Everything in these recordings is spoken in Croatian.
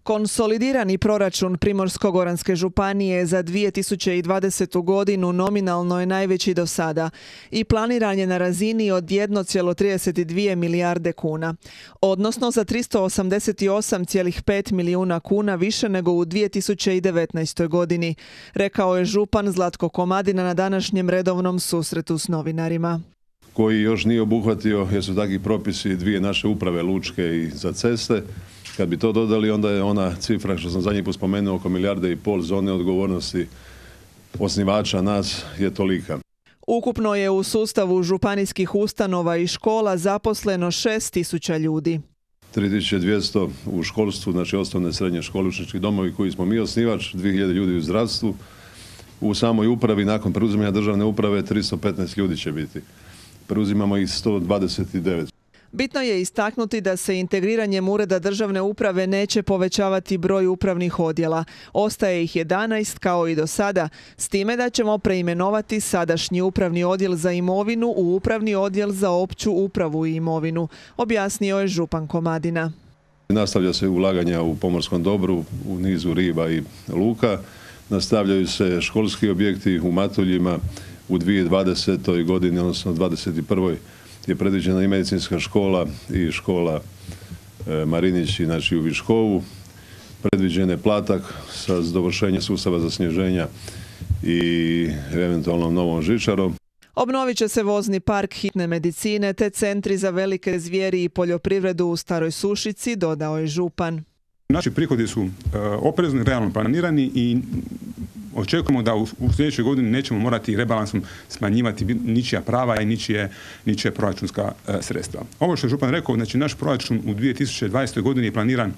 Konsolidirani proračun Primorsko-goranske županije za 2020. godinu nominalno je najveći do sada i planiran je na razini od 1,32 milijarde kuna, odnosno za 388,5 milijuna kuna više nego u 2019. godini, rekao je župan Zlatko Komadina na današnjem redovnom susretu s novinarima. Koji još nije obuhvatio, jer su takvi propisi dvije naše uprave, lučke i za ceste. Kad bi to dodali, onda je ona cifra što sam zadnji put spomenuo, oko 1,5 milijarde zone odgovornosti osnivača nas je tolika. Ukupno je u sustavu županijskih ustanova i škola zaposleno 6.000 ljudi. 3.200 u školstvu, znači osnovne srednje škole, učenički domovi koji smo mi osnivač, 2.000 ljudi u zdravstvu. U samoj upravi, nakon preuzimanja državne uprave, 315 ljudi će biti. Preuzimamo ih 129. Bitno je istaknuti da se integriranjem ureda državne uprave neće povećavati broj upravnih odjela. Ostaje ih 11 kao i do sada, s time da ćemo preimenovati sadašnji upravni odjel za imovinu u upravni odjel za opću upravu i imovinu, objasnio je župan Komadina. Nastavlja se ulaganja u pomorskom dobru, u nizu riba i luka. Nastavljaju se školski objekti u Matuljima u 2020. godini, odnosno 2021. je predviđena i medicinska škola i škola Marinići, znači u Viškovu. Predviđen je Platak sa dovršenjem sustava za snježenja i eventualno novom žičarom. Obnovit će se vozni park hitne medicine te centri za velike zvijeri i poljoprivredu u Staroj Sušici, dodao je župan. Naši prihodi su oprezni, realno planirani i očekujemo da u sljedećoj godini nećemo morati rebalansom smanjivati ničija prava i ničija proračunska sredstva. Ovo što je župan rekao, znači naš proračun u 2020. godini je planiran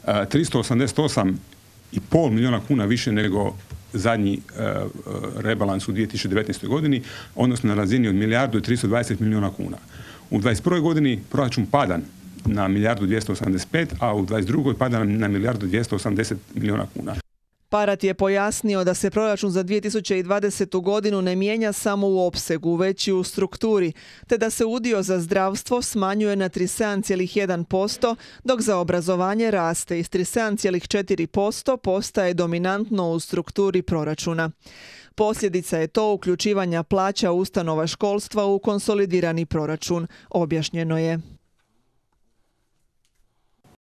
388,5 milijuna kuna više nego zadnji rebalans u 2019. godini, odnosno na razini od 1,320 milijuna kuna. U 2021. godini proračun pada na 1,285, a u 2022. pada na 1,280 milijuna kuna. Parat je pojasnio da se proračun za 2020. godinu ne mijenja samo u opsegu, već i u strukturi, te da se udio za zdravstvo smanjuje na 37,1%, dok za obrazovanje raste iz 37,4% postaje dominantno u strukturi proračuna. Posljedica je to uključivanja plaća ustanova školstva u konsolidirani proračun, objašnjeno je.